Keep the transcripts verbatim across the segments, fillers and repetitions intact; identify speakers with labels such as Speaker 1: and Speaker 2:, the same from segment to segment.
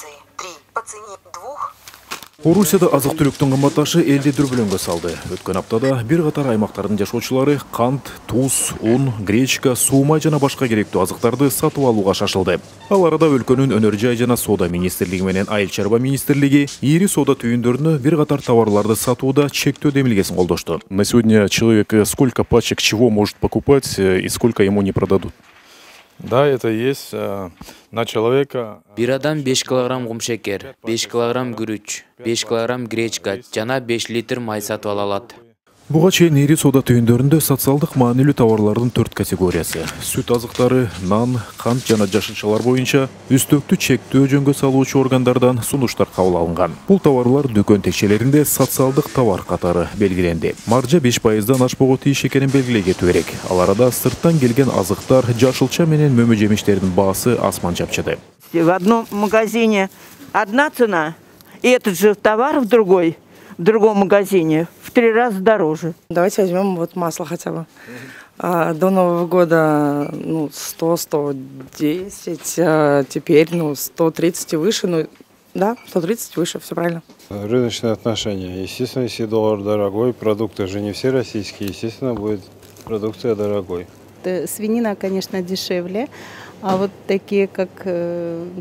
Speaker 1: акции три по цене двух.
Speaker 2: Орусияда азык-түлүктүн кымбатташы элди дүрбөлөңгө салды. Өткөн аптада бир катар аймактардын жашоочулары кант, туз, ун, гречка, суу май жана башка керектүү азыктарды сатып алууга шашылды. Ал арада өлкөнүн өнөр жай жана соода министрлиги менен айыл чарба министрлиги ири соода түйүндөрүнө бир катар товарларды сатууда чектөө демилгесин колдошту. На сегодня человек сколько пачек чего может покупать и сколько ему не продадут?
Speaker 3: Да, это есть на человека.
Speaker 4: Бир адам беш килограмм кумшекер, беш килограмм күрүч, беш килограмм гречка жана беш литр май сатып ала алат.
Speaker 2: Буга чейин ири соода түйүндөрүндө социалдык маанилүү товарлардын төрт категориясы — сүт азыктары, нан, кант жана жашылчалар боюнча үстөктү чектөө жөнгө салуучу органдардан сунуштар кабыл алынган. Бул товарлар дүкөн текчелеринде социалдык товар катары белгиленди. Маржа беш пайыздан ашпоого тийиш экенин белгилей кетүү керек. Ал арада сырттан келген азыктар, жашылча менен мөмө жемиштердин баасы асман чапчыды.
Speaker 5: В одном магазине одна цена, и этот же товар в другой, в другом магазине в три раза дороже.
Speaker 6: Давайте возьмем вот масло хотя бы. А, до Нового года ну, сто — сто десять, а теперь ну, сто тридцать и выше. Ну, да, сто тридцать выше, все правильно.
Speaker 3: Рыночные отношения. Естественно, если доллар дорогой, продукты же не все российские, естественно, будет продукция дорогой.
Speaker 7: Свинина, конечно, дешевле, а вот такие, как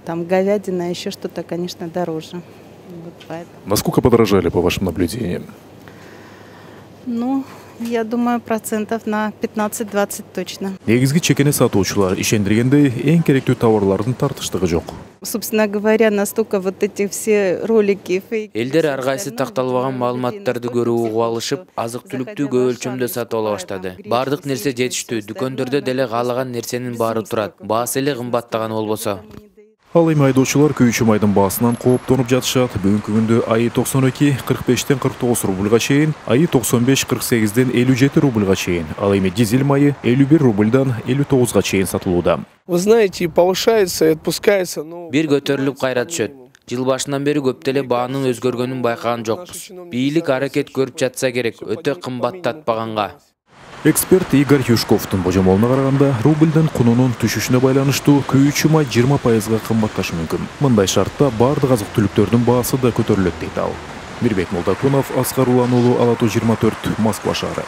Speaker 7: там говядина, еще что-то, конечно, дороже. Вот поэтому.
Speaker 2: Насколько подорожали, по вашим наблюдениям?
Speaker 7: Ну, я думаю, процентов на пятнадцать-двадцать точно.
Speaker 2: Негизги чекени сатуучулар ишендиргендей эң керектүү товарлардын тартыштыгы жок.
Speaker 7: Собственно говоря, настолько вот эти все ролики фейк.
Speaker 4: Элдер ар кайсы такталбаган маалыматтарды көрүп угуп алышып, азык-түлүктү көп өлчөмдө сатып ала баштады. Бардык нерсе жетиштүү, дүкөндөрдө деле каалаган нерсенин баары турат. Баасы эле кымбаттаган болбосо.
Speaker 2: Ал эми айдоочулар күйүүчү майдын баасынан кооптонуп жатышат. Бүгүнкү күндө айы токсон эки кырк бештен кырк тогуз рубльга чейин, айы токсон беш кырк сегизден элүү жети рубльга чейин, ал эми дизель майы элүү бир рубльдан элүү тогузга чейин сатылууда.
Speaker 8: Вы знаете, повышается и отпускается, но
Speaker 4: бир көтөрүлүп кайра түшөт. Жыл башынан бери көп деле баанын өзгөргөнүн байкаган жокпуз. Бийлик аракет көрүп жатса керек, өтө кымбаттатпаганга.
Speaker 2: Эксперт Игорь Юшковдун божомолуна караганда, рубльдин кунунун түшүшүнө байланыштуу күйүүчү май жыйырма пайызга кымбатташы мүмкүн. Мындай шартта бардык азык-түлүктөрдүн баасы да көтөрүлөт дейт ал. Мирбек Молдокунов, Аскар Улан уулу, Ала тоо жыйырма төрт, Москва шаары.